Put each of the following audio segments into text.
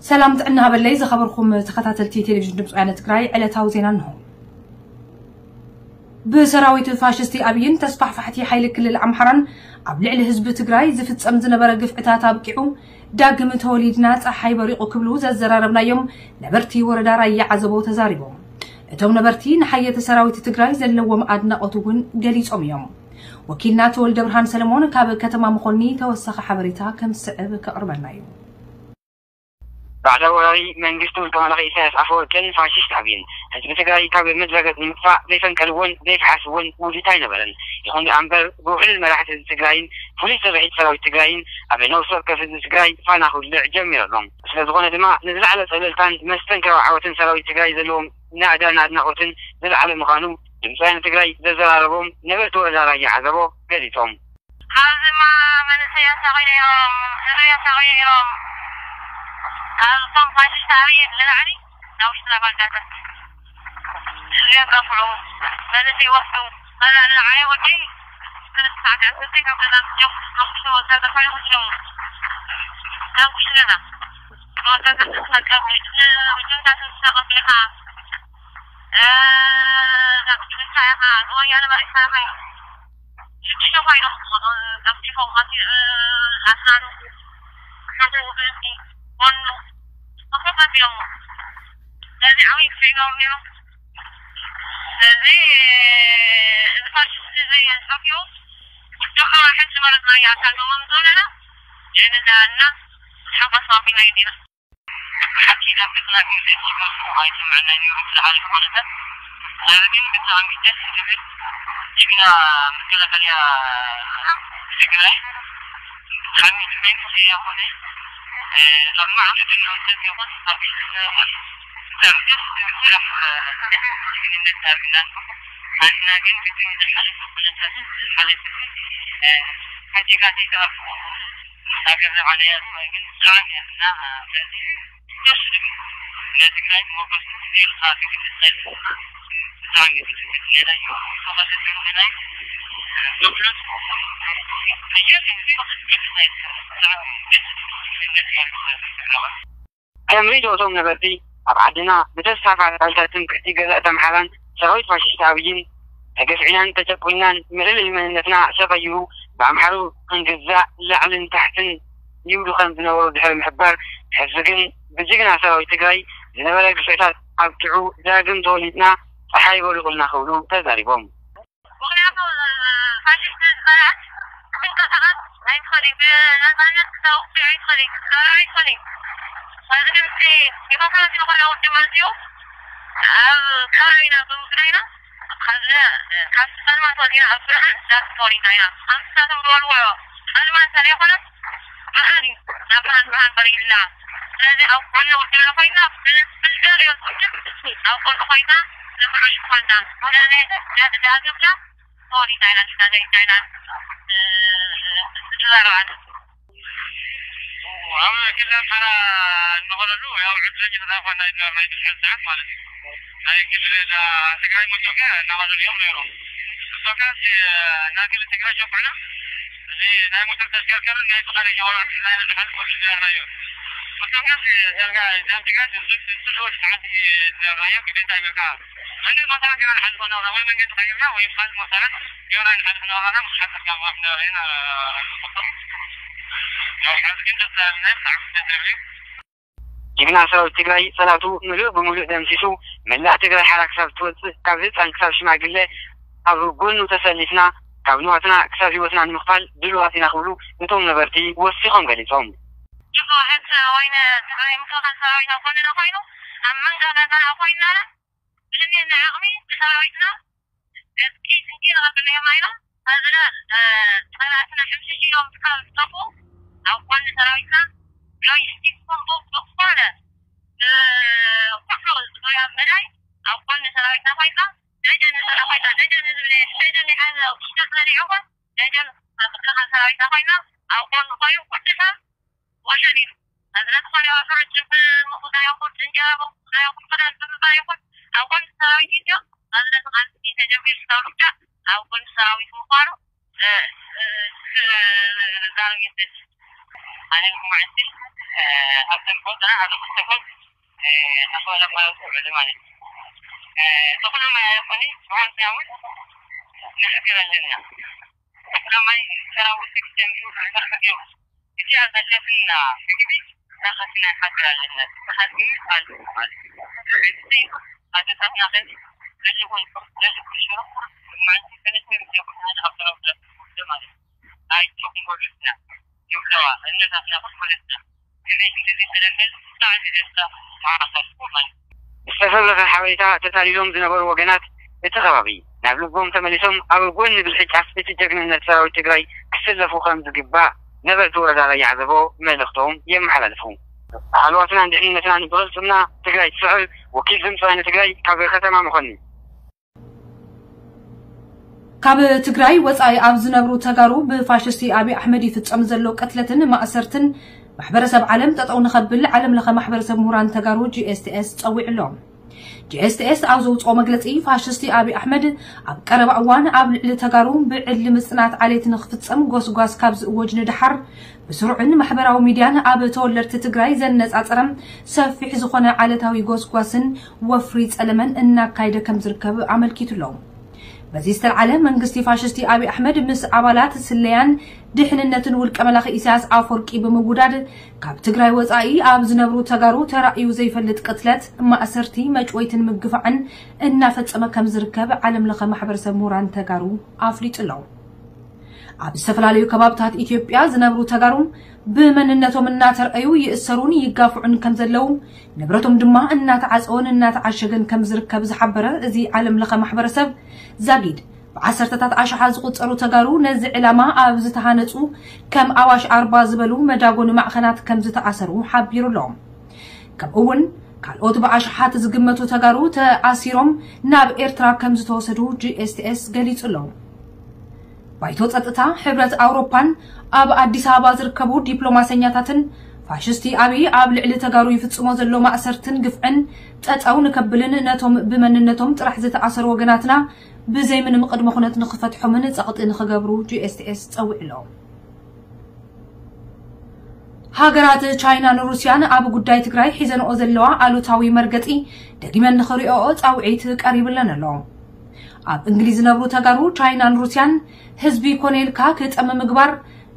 ሰላም ጥዕና ሃበለይ ዝኸበርኩም ተኸታተልቲ ቴሌቪዥን ድምፂ ወያነ ትግራይ፣ ዕለታዊ ዜና እንሆ። ብሰራዊት ፋሽስቲ ኣብይን ተስፋሕፋሕቲ ሓይሊ ክልል ኣምሓራን ኣብ ልዕሊ ህዝቢ ትግራይ ዝፍጸም ዝነበረ ግፍዕታት ኣብቂዑ፣ ዳግም ተወሊድና ጸሓይ በሪቑ ክብሉ ዘዘራረብናዮም ነበርቲ ወረዳ ራያ ዓዘቦ ተዛሪቦም። እቶም ነበርቲ ንሓየቲ ሰራዊት ትግራይ ዘለዎም ኣድናቖት እውን ገሊጾም እዮም። ወኪልና ተወልደ ብርሃን ሰለሞን ካብ ከተማ መኾኒ ተወሳኺ ሓበሬታ ከም ዝስዕብ ከቕርበልና እዩ። ባዕዳዊ ወራሪ መንግስቲ ውልቀ መላኺ ኢሳያስ ኣፈወርቅን ፋሽስት ኣብይን ህዝቢ ትግራይ ካብ ምድረ ገጽ ንምጥፋእ ዘይፈንቀልዎን ዘይፈሓስዎን ውዲት ኣይነበረን። ይኹን ደኣ እምበር ብውሕሉል መራሕቲ ህዝቢ ትግራይን ፍሉይ ስርሒት ሰራዊት ትግራይን ኣብ ነፍሲ ወከፍ ህዝቢ ትግራይ ፋና ክውልዕ ጀሚሩ ኣሎ። ስለ ዝኾነ ድማ ንዝለዓለ ጸብለልታን መስተንክራዊ ዓወትን ሰራዊት ትግራይ ዘለዎም ናእዳን ኣድናቖትን ዝለዓለ ምዃኑ ድምፂ ወያነ ትግራይ ዘዘራረቦም ነበርቲ ወረዳ ራያ ዓዘቦ ገሊጾም። ካብዚማ መንእሰይ ኣሳቒሉ እዮም፣ ህዝቢ ኣሳቒሉ እዮም። ካብቶም ፋሽስት ኣብይ ንላዕሊ ናብ ውሽጥና ባንዳታት ህዝቢ ኣጋፍዑ፣ መንእሰይ ይወስዱ። ከዛ ንዓይ ወደይ ክልተ ሰዓት ዕስርቲ ካብ ገዛ ኣውጺኦም ናብ ኩሽና ወሰዱ፣ ተፋይኹ ሽሙ ናብ ኩሽና ወሰዱ። ተሳቀሙ፣ ጁንታ ተሳቀሙ ኢኻ። እ፣ ናብ ጁንታ ኢኻ፣ ንወያነ መሪሕና ኢኻ። ሽዱሽተ ኮይኖም ዝመጡ፣ ጠፍጢፎም፣ ኣቲ-፣ እ፣ ኣስናኑ፣ ሓደ ወገንቲ፣ ጎኑ፣ ተኸታቲሎም። ስለዚ ዓብዪ ግፍዒ ገበሩ ነይሩ። ስለዚ እዚ ፋሽስት እዚ ጠፊኡ፣ ወዲ ከማ ሕጂ ማለት ናይ ኣካል መሞት ዘለና፣ ጀነዳ እና ሓጎስ ኣቢልና ኢና። ሓቂ ናብ ገጽና ክንርኢ ዝጅምር ጽቡቕ ኣይስምዐናይ ነይሩ፣ ብዝሓለፈ ኩነታት። ዛሬ ግን ብጣዕሚ ደስ ዝብል ጅግና መከላኸልያ ትግራይ፣ ብጣዕሚ መንግስቲ ያኾነ፣ እ፣ ኣብ ማዕረ ድንወሰድ ይኹን ኣብ፣ እ፣ ብጣዕሚ ደስ ዝብል ስራሕ፣ እ፣ ጅግንነት ኣርግና። ኣንሕና ግን ብቲ ዝሓለፈ ኩነታት፣ ዝሓለፈ፣ እ፣ ሓዲጋት ይተኣፉ። ሃገር ዝዓነያ ግን ብጣዕሚ እያ እና፣ ስለዚ ደስ ዝብል ናይ ትግራይ ሞገስ ኢልካ ትግልፅ ብጣዕሚ እዩ ዝግልፅ ነዳይ ተኸሰትሉ ግናይ ዶክመንት ኣየር ብጣዕሚ ደስ ዝብል ከም ርእይቶኦም ነበርቲ፣ ኣብ ዓድና ብተስፋሕፋሕቲ ሓይልታት ትምክሕቲ ገዛእቲ ኣምሓራን ሰራዊት ፋሽስት ኣብይን ተገፍዒናን ተጨቁንናን፣ ምልልይ መንነትና ተቐይሩ ብኣምሓሩ ክንግዛእ ላዕልን ታሕትን ይብሉ ከም ዝነበሩ ድሕሪ ምሕባር፣ ሕዚ ግን ብጅግና ሰራዊት ትግራይ ዝነበረ ግፍዕታት ኣብቂዑ ዳግም ተወሊድና ጸሓይ በሪቑልና ክብሉ ተዛሪቦም። ምኽንያቱ ፋሽስት ዝበላት ምንቅስቓስ ኣይትኽእልን፣ ብነፃነት ክተውቅዕ ኣይትኽእልን፣ ክትገብር ኣይትኽእልን። ሕዚ ግን እቲ ዲሞክራሲ ዝኾነ ውድብ መፅኡ ኣብ ከባቢና ብምፍዳይና ካብ ጸልማት ወፂና ኣብ ብርሃን ዳግም ተወሊድና ኢና። ኣንስሳቶም ዝበልዎ ጸልማት እንተዘይኮነ ብርሃን እዩ። ናብ ብርሃን ብርሃን ቀሪብና። ስለዚ ኣብ ጎኒ ውድብና ኮይና ብዝደልዮ ውድብ ኣብ ጎኒ ኮይና ንብርሽ ኮይና ስለዚ ዳግምና ተወሊድና ኢና ንሕና ዘሪድና ኢና ዝዛረብ ኣነ። ኣብ ክልል ኣምሓራ እንኾነሉ ያው ዕድለኛ ተዛፋ ናይ ናይ ብዝሒ ሰዓት ማለት እዩ። ናይ ክልል ትግራይ መቶከ እናኸዱ እዮም ነይሮም። እሶካ ናብ ክልል ትግራይ ሸኩዕና እዚ ናይ ሞተር ተሽከርከርን ናይ ፈቃደኛ ወራር ናይ ዝሓልፎ ዝነበርናዮ። እሶካ ናብ ትግራይ ዝስልወ ሰዓት ዝነበርናዮ ግዴታ ይበልካ። እንዲ ቦታ ገና ንሓልፎ ነበረ ወይ መንገዲ ቀይርና ወይ ካልእ መሰረት ገና ንሓልፎ ነበረና ምስ ሓፀርካ ማፍ ነበረ ኢና። ያው ሓዚ ግን ደስ ዝብል ናይ ብጣዕሚ ደስ ዝብል እዩ። ጅግና ሰራዊት ትግራይ ጸላቱ ምሉእ ብምሉእ ደምሲሱ፣ መላእ ትግራይ ሓራ ክሳብ ትወጽእ፣ ካብ ህጻን ክሳብ ሽማግለ ኣብ ጎኑ ተሰሊፍና፣ ካብ ንዋትና ክሳብ ህይወትና ንምኽፋል ድሉዋት ኢና ክብሉ እቶም ነበርቲ ወሲኾም ገሊጾም። ሕጂ ወይነ ትግራይ ምክልኻል ሰራዊት ኣብ ጎንና ኮይኑ፣ ኣብ መንጋጋና ኮይንና፣ ብዝኔና ዓቕሚ ብሰራዊትና ዕጥቂ ስንቂ ንቐብል እዮም ኢሎም፣ ኣዝና፣ እ፣ ጸላእትና ሕምሽሽ ኢሎም ክሳብ ዝጠፍኡ ኣብ ጎኒ ሰራዊትና ሎጂስቲክ ኮምቦ ብዝኾነ፣ እ፣ ኩሉ ዙርያ መዳይ ኣብ ጎኒ ሰራዊትና ኮይንና ደጀን ንሰራ ኮይንና ደጀን ንዝብል ደጀን ይሓዘ ውሽጠት ዘሪዑ እኳ ደጀን ምክልኻል ሰራዊትና ኮይንና ኣብ ጎኒ ኮይኑ ኩሉ ሰብ ወሸል ኢሉ። ኣብዚ ነቲ ዝኾነ ይኹን ሕጂ ብምቑዳይ ይኹን እንጀራ ብምቑዳይ ይኹን ክዳን ብምባል ይኹን ኣብ ጎኒ ሰራዊት ኢንድዮ ኣብዚ ነቲ ቃልሲ ተጀሚሩ ክሳብ ርዳእ ኣብ ጎኒ ሰራዊት ምዃኑ፣ እ፣ እ፣ ክዛረብ ይደሊ። ኣነ ልኩማዕንቲ ኣብ ተንኮልና ኣብ ተንኮል ኣኽበረ ማለት እዩ። ተኾነ ማለት ኮኒ ብወንዛውን ንሕገር ኣለና። ተኾነ ማይ ሰራዊት ክተምሱ ንበርክት እዩ። እቲ ኣጋደፍና ምግቢ ናኸትና ሓገር ኣለና። ተሓግሚ ኣሉ ማለት እዩ። ኣደታትና ከዚ ለልኹን ለልኩሽሮ ማንቲ ከነስምር የኹን ኣብ ተረብለ ማለት እዩ። ኣይቸኹም ጎልስና ይብለዋ እነታትና ኩልስና። ዝተፈለፈ ሓበሬታ ተታሊሎም ዝነበሩ ወገናት እቲ ከባቢ ናብ ልቦም ተመሊሶም ኣብ ጎኒ ብልሒ ጫፍ እቲ ጀግንነት ሰራዊት ትግራይ ክስለፉ ከም ዝግባእ ነበርቲ ወረዳ ራያ ዓዘቦ መልእኽቶም የመሓላልፉ። ሃለዋትናን ድሕንነትናን ብቕልፅምና ትግራይ ትስዕር። ወኪል ድምፂ ወያነ ትግራይ ካብ ከተማ መኾኒ። ካብ ትግራይ ወፃኢ ኣብ ዝነብሩ ተጋሩ ብፋሽስቲ ኣብይ ኣሕመድ ይፍፀም ዘሎ ቅትለትን ማእሰርትን ማሕበረሰብ ዓለም ጠጠው ንኸብል ዓለም ለኸ ማሕበረሰብ ምሁራን ተጋሩ ጂ ኤስ ቲ ኤስ ፀዊዑ ኣሎ። ጂ ኤስ ቲ ኤስ ኣብ ዘውፅኦ መግለፂ ፋሽስቲ ኣብይ ኣሕመድ ኣብ ቀረባ እዋን ኣብ ልዕሊ ተጋሩ ብዕሊ ምፅናት ዓሌት ንክፍፀም ጎስጓስ ካብ ዝእወጅ ንደሓር ብስሩዕን ማሕበራዊ ሚድያን ኣብ ተወለድቲ ትግራይ ዘነፃፀረ ሰፊሕ ዝኾነ ዓሌታዊ ጎስጓስን ወፍሪ ፀለመን እናካየደ ከም ዝርከብ ኣመልኪቱ ኣሎ። በዚ ዝተልዓለ መንግስቲ ፋሽስቲ ኣብይ ኣሕመድ ምስ ኣባላት ስለያን ድሕንነትን ውልቀ መላኺ ኢሳያስ ኣፈወርቂ ብምውዳድ ካብ ትግራይ ወፃኢ ኣብ ዝነብሩ ተጋሩ ተራእዩ ዘይፈልጥ ቅትለት፣ ማእሰርቲ፣ መጭወይትን ምግፋዕን እናፈፀመ ከም ዝርከብ ዓለም ለኸ ማሕበረሰብ ምሁራን ተጋሩ ኣፍሊጡ ኣሎ። ኣብ ዝተፈላለዩ ከባብታት ኢትዮጵያ ዝነብሩ ተጋሩ ብመንነቶም እናተርኣዩ ይእሰሩን ይጋፍዑን ከም ዘለዉ፣ ንብረቶም ድማ እናተዓፀወን እናተዓሸገን ከም ዝርከብ ዝሓበረ እዚ ዓለም ለኸ ማሕበረሰብ ዛጊድ ብዓሰርተታት ኣሽሓት ዝቑጸሩ ተጋሩ ነዚ ዕላማ ኣብ ዝተሃነፁ ከም ኣዋሽ ኣርባ ዝበሉ መዳጎኒ ማዕኸናት ከም ዝተኣሰሩ ሓቢሩ ኣሎ። ከምኡ እውን ካልኦት ብኣሽሓት ዝግመቱ ተጋሩ ተኣሲሮም ናብ ኤርትራ ከም ዝተወሰዱ ጂ ኤስ ቲ ኤስ ገሊጹ ኣሎ። ባይቶ ጸጥታ ሕብረት ኣውሮፓን ኣብ ኣዲስ ኣበባ ዝርከቡ ዲፕሎማሰኛታትን ፋሽስቲ ኣብይ ኣብ ልዕሊ ተጋሩ ይፍጽሞ ዘሎ ማእሰርትን ግፍዕን ጠጠው ንከብልን ነቶም ብመንነቶም ጥራሕ ዝተኣሰሩ ወገናትና ብዘይ ምንም ቅድመ ኩነት ንክፈትሖምን ጸቕጢ ንክገብሩ ጂ ኤስ ቲ ኤስ ጸዊዑ ኣሎ። ሃገራት ቻይናን ሩስያን ኣብ ጉዳይ ትግራይ ሒዘንኦ ዘለዋ ኣሉታዊ መርገጺ ደጊመን ንኽሪኦኦ ጻውዒት ቀሪብለን ኣሎ። ኣብ እንግሊዝ ዝነብሩ ተጋሩ ቻይናን ሩስያን ህዝቢ ኮነ ኢልካ ክጠሚ ምግባር፣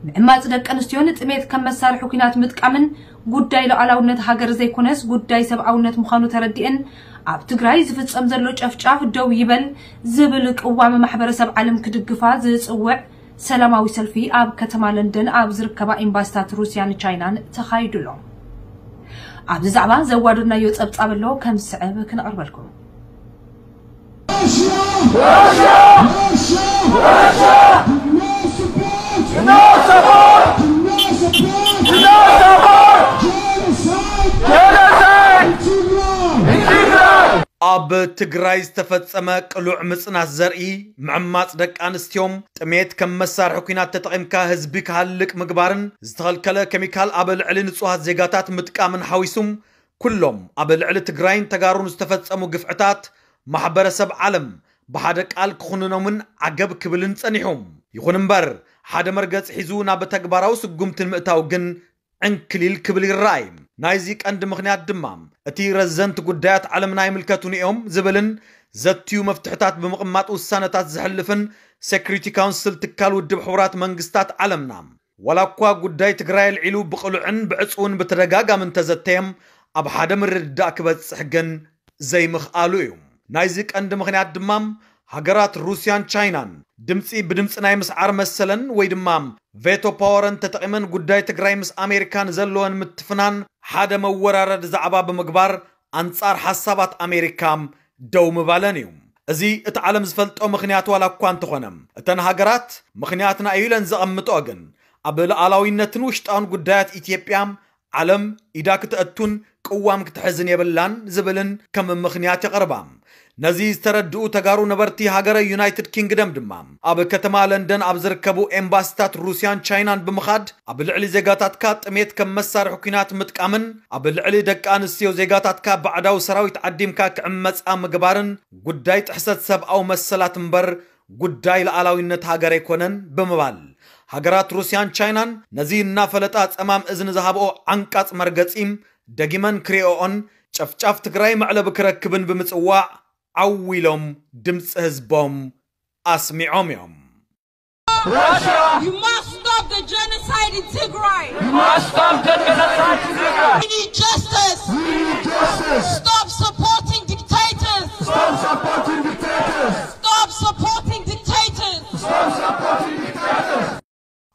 ምዕማጽ ደቂ ኣንስትዮን ጥሜት ከም መሳርሒ ኲናት ምጥቃምን ጉዳይ ሉዓላውነት ሃገር ዘይኮነስ ጉዳይ ሰብኣውነት ምዃኑ ተረዲኤን ኣብ ትግራይ ዝፍጸም ዘሎ ጨፍጫፍ ደው ይበል ዝብል ቅዋም ማሕበረሰብ ዓለም ክድግፋ ዝጽውዕ ሰላማዊ ሰልፊ ኣብ ከተማ ለንደን ኣብ ዝርከባ ኤምባሲታት ሩስያን ቻይናን ተኻይዱ ኣሎ። ኣብዚ ዛዕባ ዘዋደድናዮ ጸብጻብ ኣሎ ከም ዝስዕብ ክነቕርበልኩም። ኣብ ትግራይ ዝተፈጸመ ቅሉዕ ምጽናት ዘርኢ፣ ምዕማጽ ደቂ ኣንስትዮን ጥሜት ከም መሳርሒ ኲናት ተጠቒምካ ህዝቢ ክሃልቅ ምግባርን ዝተኸልከለ ኬሚካል ኣብ ልዕሊ ንጹሃት ዜጋታት ምጥቃምን ሓዊሱ ኩሎም ኣብ ልዕሊ ትግራይን ተጋሩን ዝተፈጸሙ ግፍዕታት ማሕበረሰብ ዓለም ብሓደ ቃል ክኹንኖምን ዓገብ ክብልን ጸኒሑ። ይኹን እምበር ሓደ መርገጽ ሒዙ ናብ ተግባራዊ ስጉምቲ ንምእታው ግን ዕንክሊል ክብል ይረኣይ። ናይዚ ቀንዲ ምኽንያት ድማ እቲ ረዘንቲ ጉዳያት ዓለምና ኣይምልከቱን እዮም ዝብልን ዘትዩ መፍትሕታት ብምቕማጥ ውሳነታት ዘሕልፍን ሴኩሪቲ ካውንስል ትካል ውድብ ሕቡራት መንግስታት ዓለምና ዋላ እኳ ጉዳይ ትግራይ ኣልዒሉ ብቕሉዕን ብዕፅውን ብተደጋጋሚ እንተዘተየም ኣብ ሓደ ምርድዳእ ክበፅሕ ግን ዘይምኽኣሉ እዩ። ናይዚ ቀንዲ ምኽንያት ድማ ሃገራት ሩስያን ቻይናን ድምፂ ብድምፂ ናይ ምስዓር መሰለን ወይ ድማ ቬቶ ፓወረን ተጠቒመን ጉዳይ ትግራይ ምስ ኣሜሪካ ንዘለወን ምትፍናን ሓደ መወራረዲ ዛዕባ ብምግባር ኣንፃር ሓሳባት ኣሜሪካ ደው ምባለን እዩ። እዚ እቲ ዓለም ዝፈልጦ ምኽንያት ዋላ እኳ እንተኾነ እተን ሃገራት ምኽንያትና እዩ ኢለን ዘቐምጥኦ ግን ኣብ ሉዓላዊነትን ውሽጣውን ጉዳያት ኢትዮጵያ ዓለም ኢዳ ክተእቱን ቅዋም ክትሕዝን የብላን ዝብልን ከም ምኽንያት የቕርባ። ነዚ ዝተረድኡ ተጋሩ ነበርቲ ሃገረ ዩናይትድ ኪንግደም ድማ ኣብ ከተማ ለንደን ኣብ ዝርከቡ ኤምባሲታት ሩስያን ቻይናን ብምኻድ ኣብ ልዕሊ ዜጋታትካ ጥሜት ከም መሳርሒ ኲናት ምጥቃምን ኣብ ልዕሊ ደቂ ኣንስትዮ ዜጋታትካ ባዕዳዊ ሰራዊት ዓዲምካ ክዕመፃ ምግባርን ጉዳይ ጥሕሰት ሰብኣዊ መሰላት እምበር ጉዳይ ሉዓላዊነት ሃገር ኣይኮነን ብምባል ሃገራት ሩስያን ቻይናን ነዚ እናፈለጣ ጸማም እዝኒ ዝሃብኦ ዓንቃጽ መርገጺ ደጊመን ክሪኦኦን ጨፍጫፍ ትግራይ መዕለቢ ክረክብን ብምጽዋዕ ዓው ኢሎም ድምፂ ህዝቦም ኣስሚዖም እዮም። Russia, you must stop the genocide in Tigray. You must stop the genocide in Tigray. We need justice. We need justice. Stop supporting dictators. Stop supporting dictators. Stop supporting dictators. Stop supporting dictators.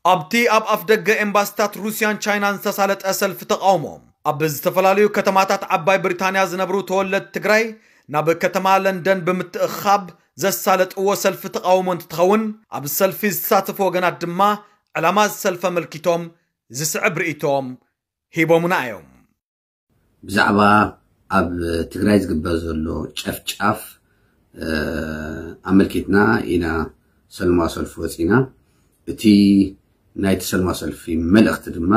ኣብቲ ኣብ ኣፍደገ ኤምባሲታት ሩስያን ቻይናን ዝተሳለጠ ሰልፊ ተቓውሞ፣ ኣብ ዝተፈላለዩ ከተማታት ዓባይ ብሪታንያ ዝነብሩ ተወለድቲ ትግራይ ናብ ከተማ ለንደን ብምትእኻብ ዘሳለጥዎ ሰልፊ ተቓውሞ እንትትኸውን፣ ኣብ ሰልፊ ዝተሳተፉ ወገናት ድማ ዕላማ ዝሰልፊ ኣመልኪቶም ዝስዕብ ርእይቶም ሂቦምና እዮም። ብዛዕባ ኣብ ትግራይ ዝግበር ዘሎ ጨፍጫፍ ኣመልኪትና ኢና ሰልማ ሰልፊ ወፂና። እቲ ናይቲ ሰልማ ሰልፊ መልእኽቲ ድማ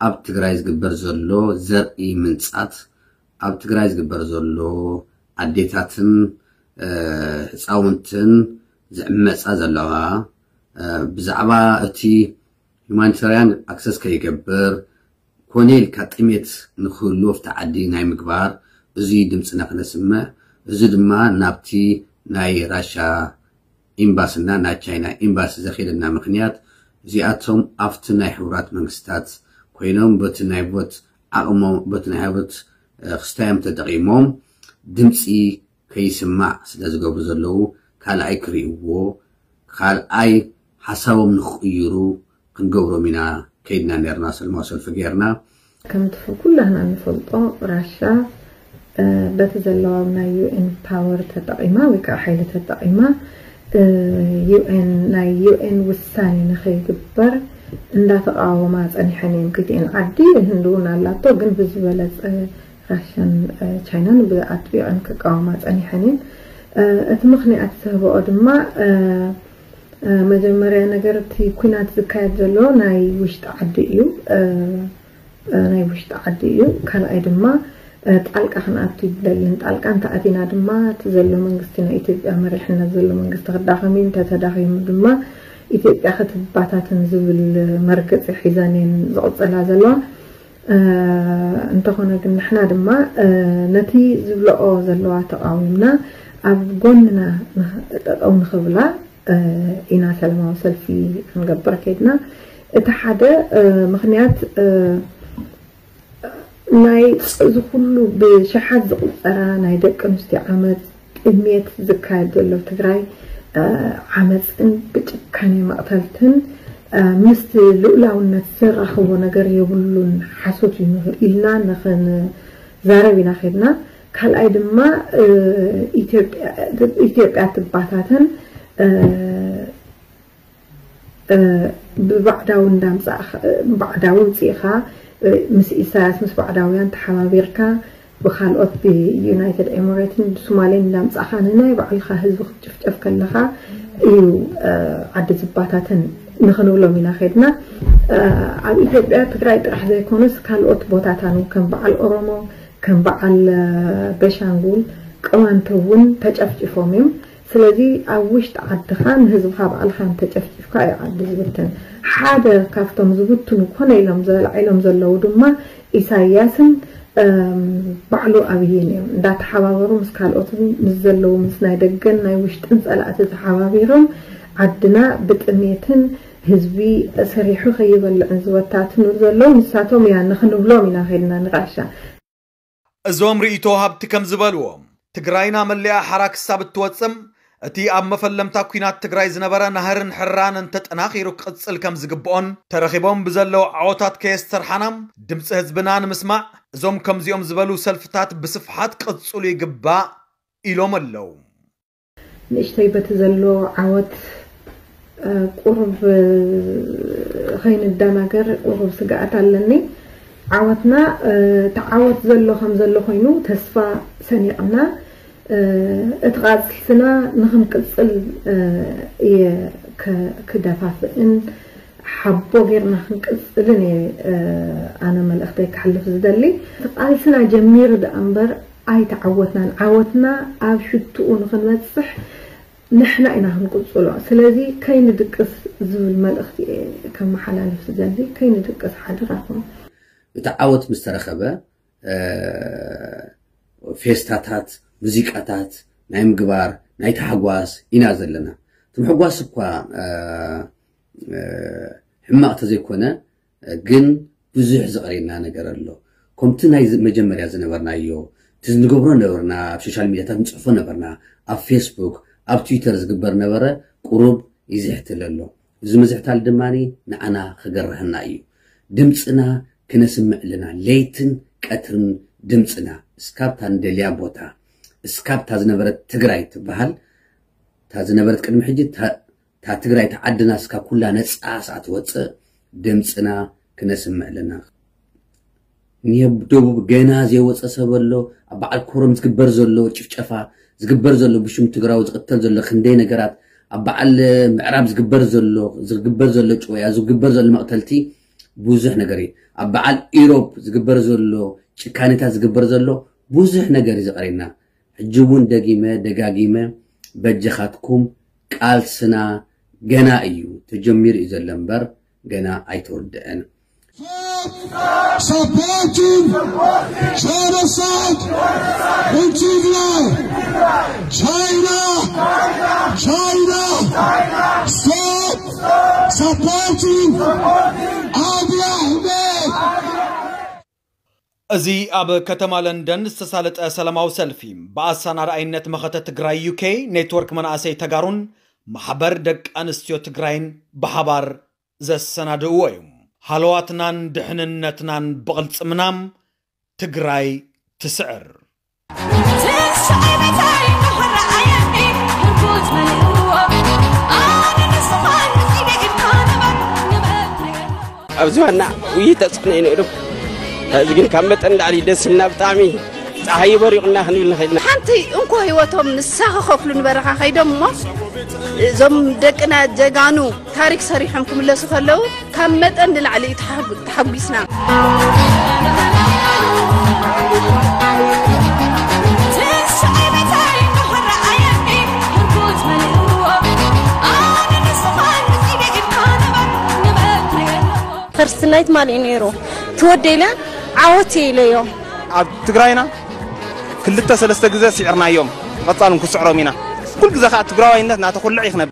ኣብ ትግራይ ዝግበር ዘሎ ዘርኢ ምንፃት፣ ኣብ ትግራይ ዝግበር ዘሎ ኣዴታትን ህፃውንትን ዝዕመፃ ዘለዋ፣ ብዛዕባ እቲ ሁማኒታርያን ኣክሰስ ከይገብር፣ ኮነ ኢልካ ጥሜት ንክህሉ ኣብቲ ዓዲ ናይ ምግባር፣ እዚ ድምፅና ክነስምዕ፣ እዚ ድማ ናብቲ ናይ ራሻ ኤምባስና ናይ ቻይና ኤምባሲ ዘኺደና ምክንያት፣ እዚኣቶም ኣብቲ ናይ ሕቡራት መንግስታት ኮይኖም በቲ ናይ ቮት ዓቕሞም፣ በቲ ናይ ሀብት ክስታዮም ተጠቒሞም ድምፂ ከይስማዕ ስለ ዝገብሩ ዘለዉ፣ ካልኣይ ክርእይዎ፣ ካልኣይ ሓሳቦም ንክቕይሩ ክንገብሮም ኢና ከይድና ነርና። ሰልማዊ ሰልፊ ገይርና። ከምቲ ኩላህና እንፈልጦ፣ ራሻ በቲ ዘለዋ ናይ ዩ ኤን ፓወር ተጠቒማ ወይ ከዓ ሓይሊ ተጠቒማ፣ ዩ ኤን፣ ናይ ዩ ኤን ውሳኔ ንኸይግበር እንዳተቃወማ ጸኒሐን እየን። ክልቲኤን ዓዲ፣ ህንዲ እውን ኣላቶ፣ ግን ብዝበለጸ ራሻን ቻይናን ብኣጥቢቐን ክቃወማ ጸኒሐን እየን። እቲ ምኽንያት ዝህበኦ ድማ፣ መጀመርያ ነገር፣ እቲ ኲናት ዝካየድ ዘሎ ናይ ውሽጢ ዓዲ እዩ። ናይ ውሽጢ ዓዲ እዩ። ካልኣይ ድማ፣ ጣልቃ ክንኣቱ ይብለልን። ጣልቃ እንተኣቲና ድማ፣ እቲ ዘሎ መንግስቲ፣ ናይ ኢትዮጵያ መሪሕነት ዘሎ መንግስቲ ክዳኸም እዩ። እንተተዳኺሙ ድማ፣ ኢትዮጵያ ክትባታተን ዝብል መርገፂ ሒዘን እየን ዝቕፅላ ዘለዋ። እንተኾነ ግን፣ ንሕና ድማ ነቲ ዝብለኦ ዘለዋ ተቓዊምና፣ ኣብ ጎንና ጠጠው ንኽብላ ኢና ሰላማዊ ሰልፊ ክንገብር ከይድና። እቲ ሓደ ምኽንያት፣ ናይ እዚ ኩሉ ብሽሓት ዝቑጸራ ናይ ደቂ ኣንስትዮ ዓመጽ፣ ጥሜት ዝካየድ ዘሎ ትግራይ፣ ዓመጽን ብጭካኔ መቕተልትን ምስቲ ልኡላውነት ዘራኽቦ ነገር የብሉን፣ ሓሶት እዩ ኢልና ንኽንዛረብ ኢና ከድና። ካልኣይ ድማ፣ ኢትዮጵያ ትባታተን ብባዕዳዊ እንዳምጻእኻ፣ ባዕዳዊ ምጺእኻ፣ ምስ ኢሳያስ፣ ምስ ባዕዳውያን ተሓባቢርካ፣ ብኻልኦት፣ ብዩናይትድ ኤምሬትን ብሶማሌን እንዳምጻእኻ፣ ንናይ ባዕልኻ ህዝቢ ክትጭፍጨፍ ከለኻ እዩ ዓዲ ዝባታተን ንኽንብሎም ኢና ከድና። ኣብ ኢትዮጵያ ትግራይ ጥራሕ ዘይኮነስ፣ ካልኦት ቦታታን፣ ከም በዓል ኦሮሞ፣ ከም በዓል ቤሻንጉል፣ ቅማንት እውን ተጨፍጭፎም እዮም። ስለዚ ኣብ ውሽጢ ዓድኻ ንህዝብኻ ባዕልኻ እንተጨፍጭፍካ እዩ ዓዲ ዝብትን። ሓደ ካብቶም ዝብትኑ ኮነ ኢሎም ዘላዒሎም ዘለዉ ድማ ኢሳያስን ባዕሉ ኣብይን እዮም። እንዳተሓባበሩ ምስ ካልኦትን ምስ ዘለዉ ምስ ናይ ደገን ናይ ውሽጥን ጸላእቲ ተሓባቢሮም ዓድና ብጥሜትን ህዝቢ ሰሪሑ ከይበልዕን ዝበታትኑ ዘለዉ ንሳቶም እያ ንኽንብሎም ኢና ከድና ንቃሻ። እዞም ርእይቶ ሃብቲ ከም ዝበልዎ፣ ትግራይና መሊኣ ሓራ ክሳብ እትወፅም፣ እቲ ኣብ መፈለምታ ኲናት ትግራይ ዝነበረ ናህርን ሕራን እንተጠናኺሩ ክቕፅል ከም ዝግብኦን፣ ተረኺቦም ብዘለዉ ዓወታት ከየስተርሓና ድምፂ ህዝብና ንምስማዕ፣ እዞም ከምዚኦም ዝበሉ ሰልፍታት ብስፍሓት ክቕፅሉ ይግባእ ኢሎም ኣለዉ። ንእሽተይ በቲ ዘሎ ዓወት ቁሩብ ኸይንደናገር ቁሩብ ስግኣት ኣለኒ። ዓወትና፣ እቲ ዓወት ዘሎ ከም ዘሎ ኮይኑ ተስፋ ሰኒቕና፣ እቲ ቃልስና ንኽንቅጽል እየ ክደፋፍእን ሓቦ ጌርና ክንቅጽልን እየ ኣነ መልእኽተይ ክሕልፍ ዝደሊ። እቲ ቃልስና ጀሚሩ ደኣ እምበር ኣይተዓወትናን። ዓወትና ኣብ ሽትኡ ንኽንበጽሕ ንሕና ኢና ክንቅጽሎ። ስለዚ ከይንድቅስ ዝብል መልእኽቲ እየ ከመሓላልፍ ዝደሊ። ከይንድቅስ ሓደራኹም። እቲ ዓወት ምስ ተረኸበ ፌስታታት፣ ሙዚቃታት ናይ ምግባር ናይ ታሕጓስ ኢና ዘለና። እቲ ምሕጓስ እኳ ሕማቕ ተዘይኮነ ግን ብዙሕ ዝቐርየና ነገር ኣሎ። ከምቲ ናይ መጀመርያ ዝነበርናዮ እቲ ንገብሮ ነበርና፣ ኣብ ሶሻል ሚድያታት ንፅሕፎ ነበርና፣ ኣብ ፌስቡክ ኣብ ትዊተር ዝግበር ነበረ ቁሩብ ይዝሕትል ኣሎ። እዚ ምዝሕታል ድማ ንዓና ክገርህና እዩ። ድምፅና ክነስምዕ ኣለና። ለይትን ቀትርን ድምፅና እስካብታ ንደልያ ቦታ እስካብታ ዝነበረት ትግራይ ትበሃል እታ ዝነበረት ቅድሚ ሕጂ እታ ትግራይ ተዓድና እስካብ ኩላ ነፃ ስኣ ትወፅእ ድምፅና ክነስምዕ ኣለና። ንደቡብ ገና ዘይወፀ ሰብ ኣሎ። ኣብ በዓል ኮረም ዝግበር ዘሎ ጭፍጨፋ ዝግበር ዘሎ ብሽም ትግራዊ ዝቕተል ዘሎ ክንደይ ነገራት ኣብ በዓል ምዕራብ ዝግበር ዘሎ ዝግበር ዘሎ ጭወያ ዝግበር ዘሎ መቕተልቲ ብዙሕ ነገር እዩ። ኣብ በዓል ኢሮብ ዝግበር ዘሎ ጭካኔታት ዝግበር ዘሎ ብዙሕ ነገር እዩ ዝቐርየና። ሕጂ እውን ደጊመ ደጋጊመ በጀኻትኩም ቃልስና ገና እዩ ተጀሚሩ እዩ ዘሎ እምበር ገና ኣይተወደአን። Supporting genocide in Tigray. China, China, stop supporting Abiy Ahmed. እዚ ኣብ ከተማ ለንደን ዝተሳለጠ ሰላማዊ ሰልፊ ብኣሳናዳኣይነት መኸተ ትግራይ ዩኬ ኔትወርክ መናእሰይ ተጋሩን ማሕበር ደቂ ኣንስትዮ ትግራይን ብሓባር ዘሰናድእዎ እዩ። ሃለዋትናን ድሕንነትናን ብቕልፅምና ትግራይ ትስዕር። ኣብዚ ዋና ውይይት ተፅዕኖ እዩ ነይሩ። እዚ ግን ካብ መጠን ላዕሊ ደስ ኢልና ብጣዕሚ ፀሓይ በሪቑና ክንብል ንኽእል ኢና። ሓንቲ እንኮ ህይወቶም ንሳ ክኸፍሉ ንበረኻ ከይዶም እሞ እዞም ደቅና ጀጋኑ ታሪክ ሰሪሖም ክምለሱ ከለዉ ካብ መጠን ንላዕሊ እዩ ተሓጉ- ተሓጒስና። ፈርስት ናይት ማል እዩ ነይሩ። ትወደ ኢለ ዓወት እየ ኢለዮ። ኣብ ትግራይና ክልተ ሰለስተ ግዜ ስዒርናዮም፣ ብቐጻል እውን ክስዕሮም ኢና። ኩሉ ግዜ ከዓ ትግራዋይነት እናተኹልዕ እዩ ክነብር።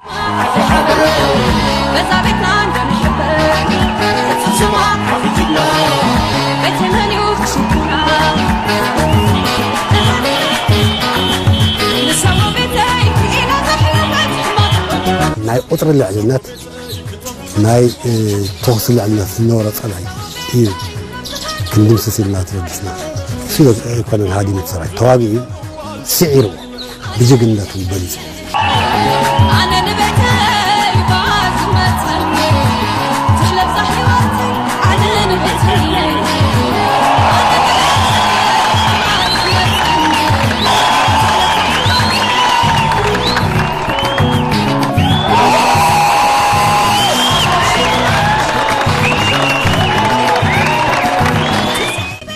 ናይ ቁፅሪ ልዕልነት ናይ ተኹሲ ልዕልነት ዝነበሮ ፀላኢ እዩ ክንድምስስ ኢልና ተበጊስና። እሱ ኣይኮነን ሃዲሙ እቲ ሰራዊት፣ ተዋጊኡ ስዒርዎ ብጅግንነቱ በሊፁ።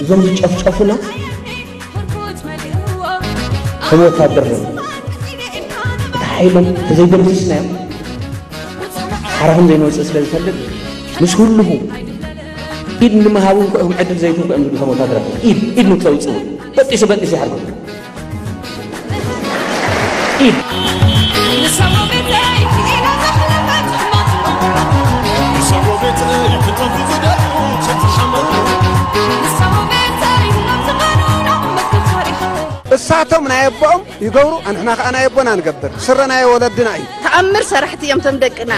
እዞም ዝጨፍጨፉና ከም ወታደር እዮም። እቲ ሓይሎም ተዘይደምሲስናዮም ሓራኹም ዘይንወፅእ ስለ ዝፈልጥ ምስ ኩልኹም ኢድ ንምሃብ እንኳ እዮም ዕድል ዘይትንኩ እዮም ዝብሉ ከም ወታደራት ኢድ ኢድ ንክተውፅኡ በጢሱ በጢሱ ይሓርኩም። ኢድ እሳቶም ናይ ኣቦኦም ይገብሩ፣ ኣንሕና ከዓ ናይ ኣቦና ንገብር። ስረ ናይ ወለድና እዩ። ተኣምር ሰራሕቲ እዮም ቶም ደቅና።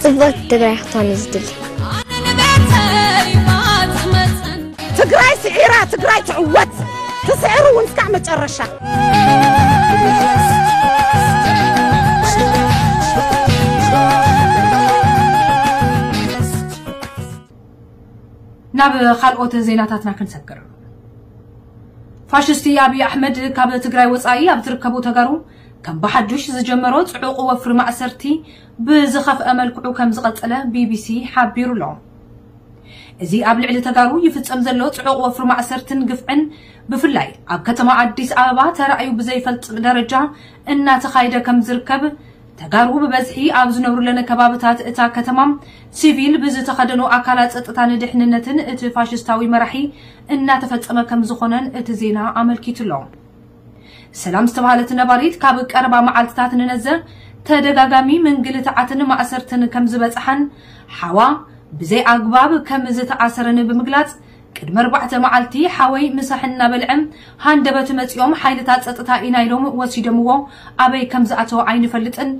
ጽብቕቲ ትግራይ ክትኮን እዩ ዝድሊ። ትግራይ ስዒራ፣ ትግራይ ትዕወት። ትስዕር እውን እስካዕ መጨረሻ። ናብ ካልኦት ዜናታትና ክንሰግር። ፋሽስቲ ኣብይ ኣሕመድ ካብ ትግራይ ወፃኢ ኣብ ዝርከቡ ተጋሩ ከም ብሓዱሽ ዝጀመሮ ፅዑቕ ወፍሪ ማእሰርቲ ብዝኸፍአ መልክዑ ከም ዝቐፀለ ቢቢሲ ሓቢሩ ኣሎ። እዚ ኣብ ልዕሊ ተጋሩ ይፍጸም ዘሎ ጽዑቕ ወፍሪ ማእሰርትን ግፍዕን፣ ብፍላይ ኣብ ከተማ ኣዲስ ኣበባ ተራእዩ ብዘይፈልጥ ደረጃ እናተኻየደ ከም ዝርከብ፣ ተጋሩ ብበዝሒ ኣብ ዝነብሩለን ከባብታት እታ ከተማ ሲቪል ብዝተኸደኑ ኣካላት ጸጥታን ድሕንነትን እቲ ፋሽስታዊ መራሒ እናተፈጸመ ከም ዝኾነን እቲ ዜና ኣመልኪቱ ኣሎ። ሰላም ዝተባህለት ነባሪት ካብ ቀረባ መዓልትታት ንነዘ ተደጋጋሚ ምንግልታዓትን ማእሰርትን ከም ዝበጽሓን ሓዋ ብዘይ ኣግባብ ከም ዝተኣሰረን ብምግላጽ፣ ቅድሚ ኣርባዕተ መዓልቲ ሓወይ ምሳሕ እናበልዐ ሃንደበት መጺኦም ሓይልታት ጸጥታ ኢና ኢሎም ወሲዶምዎ፣ ኣበይ ከም ዝኣተወ ኣይንፈልጥን፣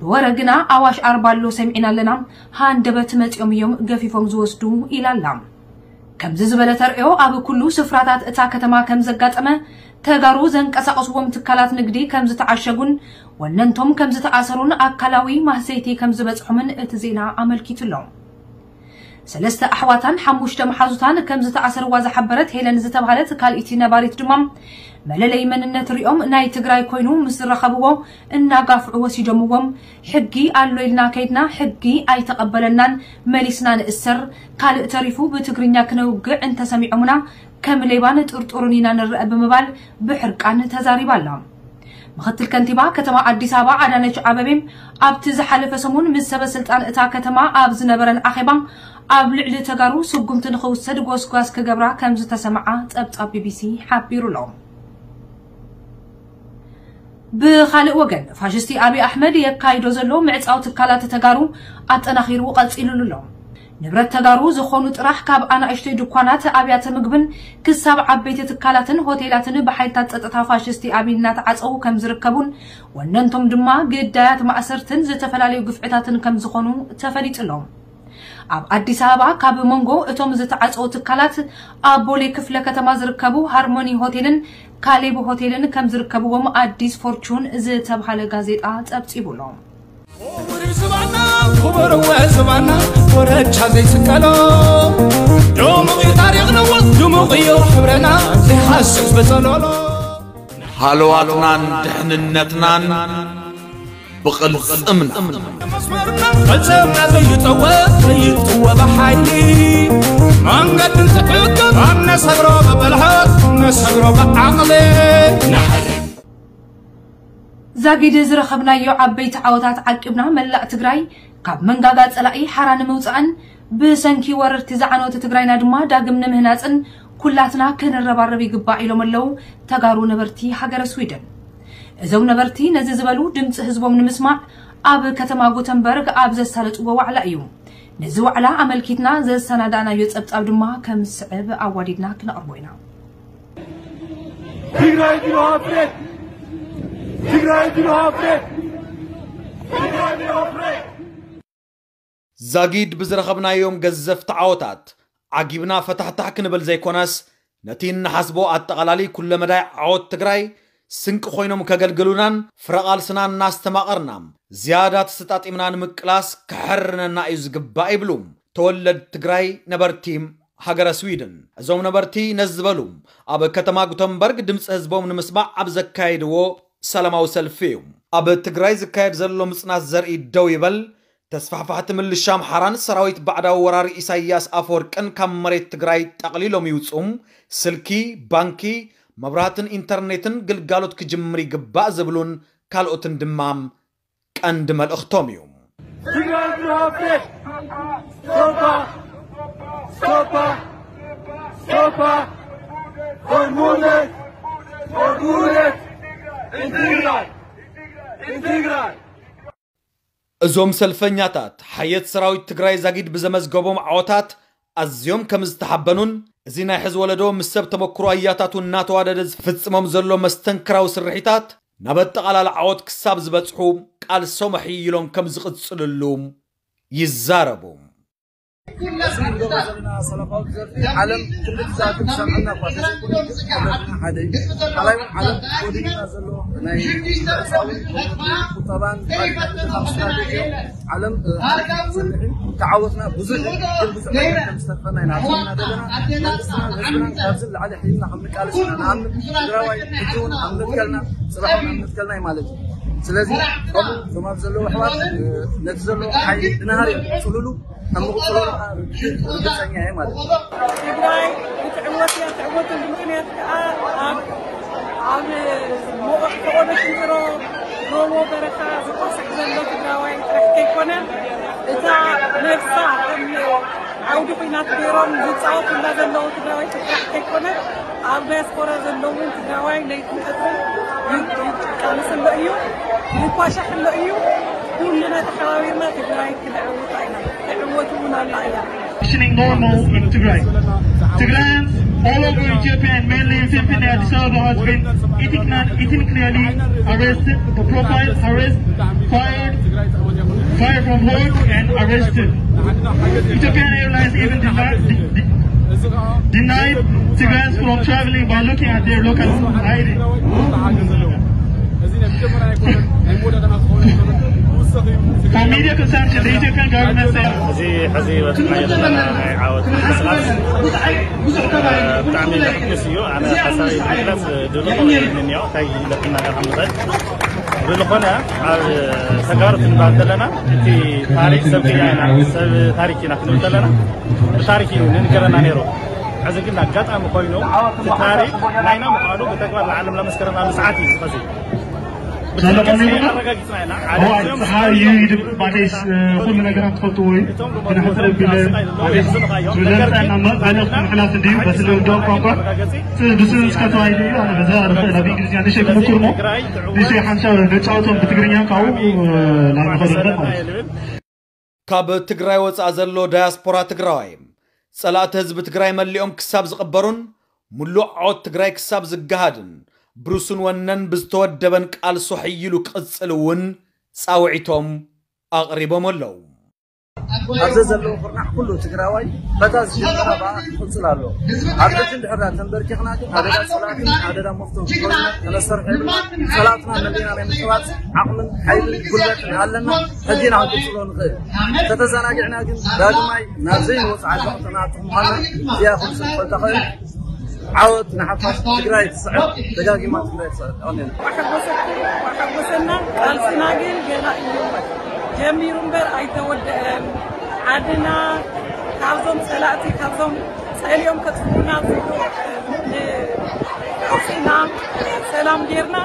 ብወረ ግና ኣዋሽ ኣርባ ኣሎ ሰሚዕና ኣለና፣ ሃንደበት መጺኦም እዮም ገፊፎም ዝወስዱ ኢላ ኣላ። ከምዚ ዝበለ ተርእዮ ኣብ ኩሉ ስፍራታት እታ ከተማ ከም ዘጋጠመ፣ ተጋሩ ዘንቀሳቐስዎም ትካላት ንግዲ ከም ዝተዓሸጉን ወነንቶም ከም ዝተኣሰሩን ኣካላዊ ማህሰይቲ ከም ዝበጽሖምን እቲ ዜና ኣመልኪቱ ኣሎ። ሰለስተ ኣሕዋታን ሓሙሽተ መሓዙታን ከም ዝተኣሰርዋ ዝሓበረት ሄለን ዝተባህለት ካልኢቲ ነባሪት ድማ፣ መለለይ መንነት ሪኦም ናይ ትግራይ ኮይኑ ምስ ዝረኸብዎ እናጋፍዑ ወሲዶምዎም፣ ሕጊ ኣሎ ኢልና ከይድና ሕጊ ኣይተቐበለናን፣ መሊስና ንእሰር፣ ካልእ ተሪፉ ብትግርኛ ክነውግዕ እንተሰሚዖምና ከም ሌባን ጥርጡርን ኢና ንረአ ብምባል ብሕርቃን ተዛሪባ ኣላ። ምኽትል ከንቲባ ከተማ ኣዲስ ኣበባ ኣዳነች ኣበቤ ኣብቲ ዝሓለፈ ሰሙን ምስ ሰበ ስልጣን እታ ከተማ ኣብ ዝነበረን ኣኼባ ኣብ ልዕሊ ተጋሩ ስጉምቲ ንኽውሰድ ጎስጓስ ክገብራ ከም ዝተሰምዓ ጸብጻብ ቢቢሲ ሓቢሩ ኣሎ። ብኻልእ ወገን ፋሽስቲ ኣብይ ኣሕመድ የካይዶ ዘሎ ምዕጻው ትካላት ተጋሩ ኣጠናኺሩ ቀጺሉሉ ኣሎ። ንብረት ተጋሩ ዝኾኑ ጥራሕ ካብ ኣናእሽተይ ድኳናት ኣብያተ ምግብን ክሳብ ዓበይቲ ትካላትን ሆቴላትን ብሓይልታት ጸጥታ ፋሽስቲ ኣብይ እናተዓጸዉ ከም ዝርከቡን ወነንቶም ድማ ግዳያት ማእሰርትን ዝተፈላለዩ ግፍዕታትን ከም ዝኾኑ ተፈሊጡ ኣሎ። ኣብ ኣዲስ ኣበባ ካብ መንጎ እቶም ዝተዓጸዉ ትካላት ኣብ ቦሌ ክፍለ ከተማ ዝርከቡ ሃርሞኒ ሆቴልን ካሌብ ሆቴልን ከም ዝርከብዎም ኣዲስ ፎርቹን ዝተብሃለ ጋዜጣ ጸብጺቡ ኣሎ። ክቡር ዝባና ክቡር ወ ዝባና ወረቻ ዘይስቀሎ ድሙቕ እዩ ታሪኽና ድሙቕ እዩ ሕብረና ዘይሓስስ በጸሎሎ ሃለዋትናን ድሕንነትናን ብቕልጽምና መስመርና ቐልጽምና ዘይጠወ ዘይጥወ ብሓይሊ መንገድን ትዕቅብ ኣብ ነሰግሮ ብብልሓት ነሰግሮ ብዓቕሊ ንሓሪ ዛጊድ ዝረኸብናዮ ዓበይቲ ዓወታት ዓቂብና መላእ ትግራይ ካብ መንጋጋ ጸላኢ ሓራ ንምውጻእን ብሰንኪ ወረርቲ ዝዓነወት ትግራይና ድማ ዳግም ንምህናጽን ኩላትና ክንረባረብ ይግባእ ኢሎም ኣለዉ ተጋሩ ነበርቲ ሃገረ ስዊድን። እዞም ነበርቲ ነዚ ዝበሉ ድምፂ ህዝቦም ንምስማዕ ኣብ ከተማ ጉተንበርግ ኣብ ዘሳለጥዎ ዋዕላ እዩ። ነዚ ዋዕላ ኣመልኪትና ዘሰናዳእናዮ ጸብጻብ ድማ ከም ዝስዕብ ኣዋዲድና ክነቕርቦ ኢና። ትግራይ ቢሮ ኣፍሬት! ትግራይ ቢሮ ኣፍሬት! ትግራይ ቢሮ ኣፍሬት! ዛጊድ ብዝረኸብናዮም ገዘፍቲ ዓወታት ዓጊብና ፈታሕታሕ ክንብል ዘይኮነስ፣ ነቲ እንሓስቦ ኣጠቓላሊ ኩለመዳይ ዓወት ትግራይ ስንቂ ኮይኖም ከገልግሉናን ፍረቓልስና እናስተማቐርና ዝያዳ ተሰጣጢምና ንምቅላስ ክሕርነና እዩ ዝግባእ ይብሉ ተወለድ ትግራይ ነበርቲ ሃገረ ስዊድን። እዞም ነበርቲ ነዚ ዝበሉ ኣብ ከተማ ጉተንበርግ ድምፂ ህዝቦም ንምስማዕ ኣብ ዘካየድዎ ሰላማዊ ሰልፊ እዩ። ኣብ ትግራይ ዝካየድ ዘሎ ምፅናት ዘርኢ ደው ይበል፣ ተስፋሕፋሕቲ ምልሻ ኣምሓራን ሰራዊት ባዕዳዊ ወራሪ ኢሳያስ ኣፈወርቅን ካብ መሬት ትግራይ ጠቕሊሎም ይውፁ፣ ስልኪ፣ ባንኪ፣ መብራህትን ኢንተርኔትን ግልጋሎት ክጅምር ይግባእ ዝብሉን ካልኦትን ድማ ቀንዲ መልእኽቶም እዩ። ትግራይ ብርሃፍሬ! ስቶፓ! ስቶፓ! ስቶፓ! ፎር ጉደት! ፎር ጉደት! ኢንትግራይ! ኢንትግራይ! እዞም ሰልፈኛታት ሓየት ሰራዊት ትግራይ ዛጊድ ብዘመዝገቦም ዓወታት ኣዝዮም ከም ዝተሓበኑን፣ እዚ ናይ ሕዚ ወለዶ ምስ ሰብ ተመክሮ ኣያታቱ እናተዋደደ ዝፍጽሞም ዘሎ መስተንክራዊ ስርሒታት ናብ ኣጠቓላሊ ዓወት ክሳብ ዝበጽሑ ቃልሶም ኣሕይሎም ከም ዝቕጽልሉ ይዛረቡ። እዚ ንገብሮ ዘለና ሰላማዊ ዘርፊ ዓለም ክንዲ ትዛረብ ትሰምዐና እኳ ተዘይኮነ፣ ግን ሕብረትና ሓደ እዩ። ካልኣይ እውን ዓለም ጎዲሉና ዘሎ ናይ ምዕጻውን ቁጠባን ባንክን ስትራቴጂ ዓለም፣ እ፣ ትሰርሕ እዩ። ተዓወትና ብዙሕ እዩ፣ ግን ብዙሕ ነገር ከም ዝተርፈና ኢና ሓሲብና ዘለና። መንግስትና ንህዝብና ካብዚ ንላዕሊ ሕይልና ከም ንቃለስ ኢና ንኣምን። ትግራዋይ ሕጂ እውን ኣብ መትከልና፣ ጽባሕ እውን ኣብ መትከልና እዩ ማለት እዩ። ስለዚ ከምኡ እቶም ኣብ ዘለዉ ኣሕዋት ነቲ ዘሎ ሓይሊ ብናሃር እዮም ዝቕፅሉሉ። ከም ዝቕፅሉሉ ከዓ ርግፀኛ እየ ማለት እዩ። ትግራይ ክትዕወት እያ። ትዕወተሉ ምክንያት ከዓ ኣብ ኣብ ሞቐ ፈቐዶ ሽንጥሮ ጎቦ በረኻ ዝቋስዕ ዘሎ ትግራዋይ ጥራሕ ከይኮነ፣ እታ ነብሳ ከም ዓውዲ ኲናት ገይሮም ዝፃወቱላ ዘለዉ ትግራዋይ ጥራሕ ከይኮነ፣ ኣብ ዳያስፖራ ዘለዉ እውን ትግራዋይ ለይትን ቀትርን ይቃለስ ኣሎ እዩ፣ ይኳሻሕ ኣሎ እዩ። ኩልና ተሓባቢርና ትግራይ ክነዕውታ ኢና። ትዕወት እውን ኣላ እያ። Functioning normal in Tigray. Tigrayans all over Ethiopia and mainly in Finfinne, Addis Ababa has been ethnic-, ethnically arrested, the profile arrest, fired, fired from work and arrested. Ethiopian Airlines even denied, de-, de-, denied Tigrayans from traveling by looking at their local I D. For media consumption, the Ethiopian government said እዚ ሕዚ በፅሕናዮ ዘለና ናይ ዓወት ምንቅስቃስ ብጣዕሚ ዘሐጉስ እዩ። ኣነ ሓሳበይ ንምግላፅ ድልዎ የብለይን እኒኦ እንታይ ኢለ ክናገር ከም ዝኽእል። ብዝኾነ ኣብ ተጋሩ ክንበሃል ከለና እቲ ታሪክ ሰብ ቅያ ኢና፣ ሰብ ታሪክ ኢና ክንብል ከለና ብታሪክ እዩ ንንገረና ነይሩ። ሕዚ ግን ኣጋጣሚ ኮይኑ እቲ ታሪክ ናይና ምዃኑ ብተግባር ንዓለም ለመስከረና ሰዓት እዩ ዝኸዚ። ብትክክል ኣረጋጊፅና ኢና። ሓደ እዋን እዚኦም ፀሓይ እዩ ይድብ ማለሽ፣ እ፣ ኩሉ ነገራት ትፈልጥዎ እዩ። እቶም ግን ሕፅር ቢለ ማለሽ ዝለምፀና መ-፣ መልእኽቲ ምሕላፍ እንድዩ በቲ ልምዶም ቋንቋ። እ፣ ብስሩ እስከ ተዋሂዱ እዩ። ኣነ በዛ ርኽእል ኣብ እንግሊዝኛ ንእሽተይ ክምኩር እሞ ንእሽተይ ሓንሳብ ነጫወቶም ብትግርኛ ካብኡ፣ እ፣ ናብ ንኸዶ ማለት እዩ። ካብ ትግራይ ወፃእ ዘሎ ዳያስፖራ ትግራዋይ ጸላእቲ ህዝቢ ትግራይ መሊኦም ክሳብ ዝቕበሩን ሙሉእ ዓወት ትግራይ ክሳብ ዝገሃድን ብሩስን ወነን ብዝተወደበን ቃልሱ ሕይሉ ክቕፅል እውን ፃውዒቶም ኣቕሪቦም ኣለዉ። ኣብዚ ዘለዉ ኩርናዕ ኩሉ ትግራዋይ በታ ዝጀመረ በኣ ክቕፅል ኣለዎ። ኣብ ሕጂ እንድሕር ዳ ተንበርኪኽና ግን ኣደዳ ጸላእትን ኣደዳ መፍቶም ኮይና ተነሰርሐ ድማ ጸላእትና መሊና ናይ ምጥባፅ ዓቕምን ሓይልን ጉልበትን ኣለና። ሕጂ ኢና ክንቅፅሎ ንኽእል። ተተዘናጊዕና ግን ዳግማይ ናብ ዘይንወፅእ ዓዘቕትና ኣጥቕ ምዃንና እዚኣ ኩሉ ሰብ ክፈልጣ ኽእል። ዓወት ንሓፋሽ። ትግራይ ትስዕር። ደጋጊማ ትግራይ ትስዕር። የቐንየልና። ኣሐጎሰና ቃልስና ግን ገና እዩ ጀሚሩ እምበር ኣይተወደአን። ዓድና ካብዞም ጸላእቲ፣ ካብዞም ጸሊኦም ከጥፍኡና ዝብሉ ኣውፂእና ሰላም ጌርና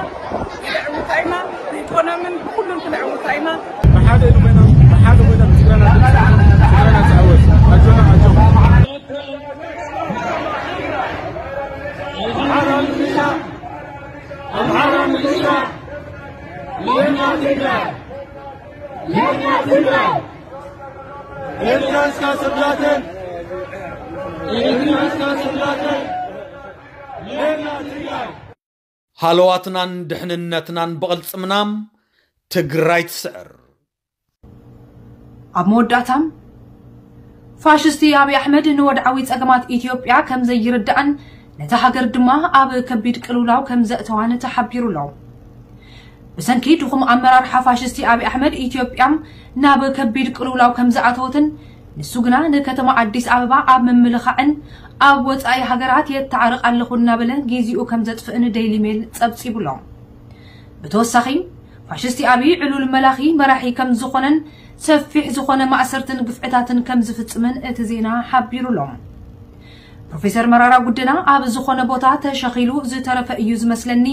ክነዕውታ ኢና። ብኢኮኖምን ብኩሉን ክነዕውታ ኢና። ብሓደ ኮይና፣ ብሓደ ኮይና ትግራይና፣ ትግራይና ትዕወት። ኣጆና፣ ኣጆና። ኣምሓራ ሚሊሻ፣ ኣምሓራ ሚሊሻ፣ የኛ ትግራይ፣ የኛ ትግራይ። ኤርትራ እስካ ስላተን፣ ኤርትራ እስካ ስላተን፣ የኛ ትግራይ። ሃለዋትናን ድሕንነትናን ብቕልጽምና ትግራይ ትስዕር። ኣብ መወዳእታ፣ ፋሽስቲ ኣብይ ኣሕመድ ንወድዓዊ ጸገማት ኢትዮጵያ ከም ዘይርዳእን ነታ ሃገር ድማ ኣብ ከቢድ ቅልውላው ከም ዘእተዋን ተሓቢሩ ኣሎ። ብሰንኪ ድኹም ኣመራርሓ ፋሽስቲ ኣብይ ኣሕመድ ኢትዮጵያ ናብ ከቢድ ቅልውላው ከም ዝኣተወትን ንሱ ግና ንከተማ ኣዲስ ኣበባ ኣብ ምምልኻዕን ኣብ ወጻኢ ሃገራት የተዓርቕ ኣለኹ እናበለ ግዜኡ ከም ዘጥፍእን ዴይሊ ሜል ጸብጺቡ ኣሎ። ብተወሳኺ፣ ፋሽስቲ ኣብይ ዕሉል መላኺ መራሒ ከም ዝኾነን ሰፊሕ ዝኾነ ማእሰርትን ግፍዕታትን ከም ዝፍጽምን እቲ ዜና ሓቢሩ ኣሎ። ፕሮፌሰር መራራ ጉደና ኣብ ዝኾነ ቦታ ተሸኺሉ ዝተረፈ እዩ ዝመስለኒ።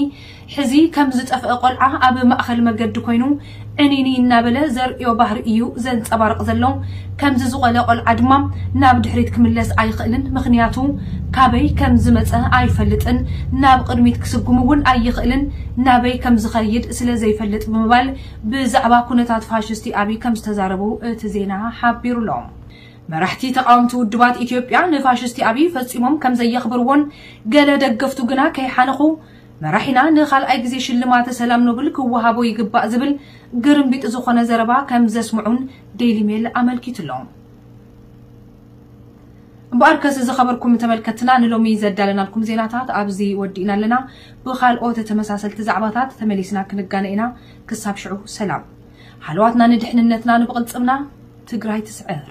ሕዚ ከም ዝጠፍአ ቆልዓ ኣብ ማእኸል መገዲ ኮይኑ ዕኒኒ እናበለ ዘርእዮ ባህሪ እዩ ዘንጸባርቕ ዘሎ። ከምዚ ዝቖለ ቆልዓ ድማ ናብ ድሕሪት ክምለስ ኣይኽእልን፣ ምኽንያቱ ካበይ ከም ዝመጸ ኣይፈልጥን፣ ናብ ቅድሚት ክስጉም እውን ኣይኽእልን፣ ናበይ ከም ዝኸይድ ስለ ዘይፈልጥ ብምባል ብዛዕባ ኩነታት ፋሽስቲ ኣብይ ከም ዝተዛረቡ እቲ ዜና ሓቢሩ ኣሎ። መራሕቲ ተቓወምቲ ውድባት ኢትዮጵያ ንፋሽስቲ ኣብይ ፈጺሞም ከም ዘየኽብርዎን ገለ ደገፍቱ ግና ከይሓነኹ መራሒና ንኻልኣይ ግዜ ሽልማተ ሰላም ኖብል ክወሃቦ ይግባእ ዝብል ግርምቢጥ ዝኾነ ዘረባ ከም ዘስምዑን ዴይሊ ሜል ኣመልኪቱ ኣሎ። እምበኣርከስ ዝኸበርኩም ተመልከትና ንሎሚ ዘዳለናልኩም ዜናታት ኣብዚ ወዲእና ኣለና። ብኻልኦት ተመሳሰልቲ ዛዕባታት ተመሊስና ክንጋነ ኢና። ክሳብ ሽዑ ሰላም። ሃለዋትና ንድሕንነትና ንብቕልጽምና። ትግራይ ትስዕር።